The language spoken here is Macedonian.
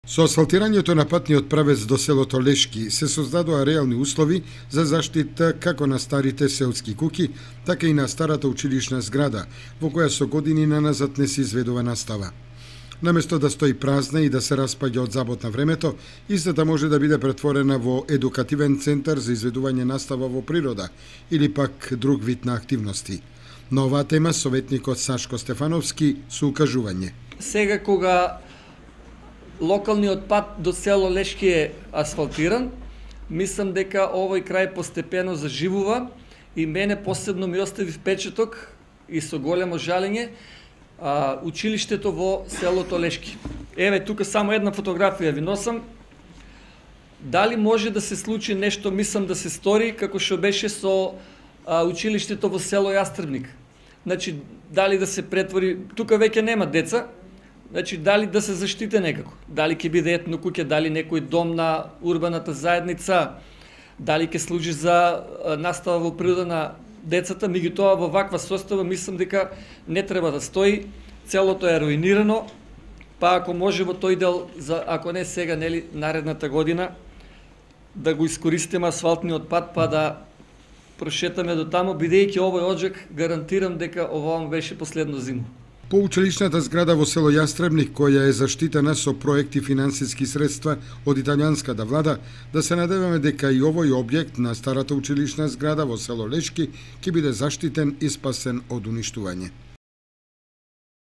Со асфалтирањето на патниот правец до селото Лешки се создадоа реални услови за заштита како на старите селски куќи, така и на старата училишна зграда, во која со години наназад не се изведува настава. Наместо да стои празна и да се распаѓа од забот на времето, истата може да биде претворена во едукативен центар за изведување настава во природа или пак друг вид на активности. На оваа тема советникот Сашко Стефановски со укажување. Сега кога локалниот пат до село Лешки е асфалтиран, мислам дека овој крај постепено заживува и мене посебно ми остави впечаток и со големо жалење училиштето во селото Лешки. Еве тука само една фотографија ви носам. Дали може да се случи нешто, мислам да се стори како што беше со училиштето во село Јастребник. Значи дали да се претвори, тука веќе нема деца. Значи, дали да се заштите некако, дали ќе биде етно куќе, дали некој дом на урбаната заедница, дали ќе служи за настава во природа на децата, меѓутоа во ваква состава мислам дека не треба да стои, целото е руинирано, па ако може во тој дел, ако не сега, нели, наредната година, да го искористиме асфалтниот пат, па да прошетаме до тамо, бидејќи овој оджак гарантирам дека ова беше последно зима. По училишната зграда во село Јастребник, која е заштитена со проекти финансиски средства од италијанската влада, да се надеваме дека и овој објект на старата училишна зграда во село Лешки ќе биде заштитен и спасен од уништување.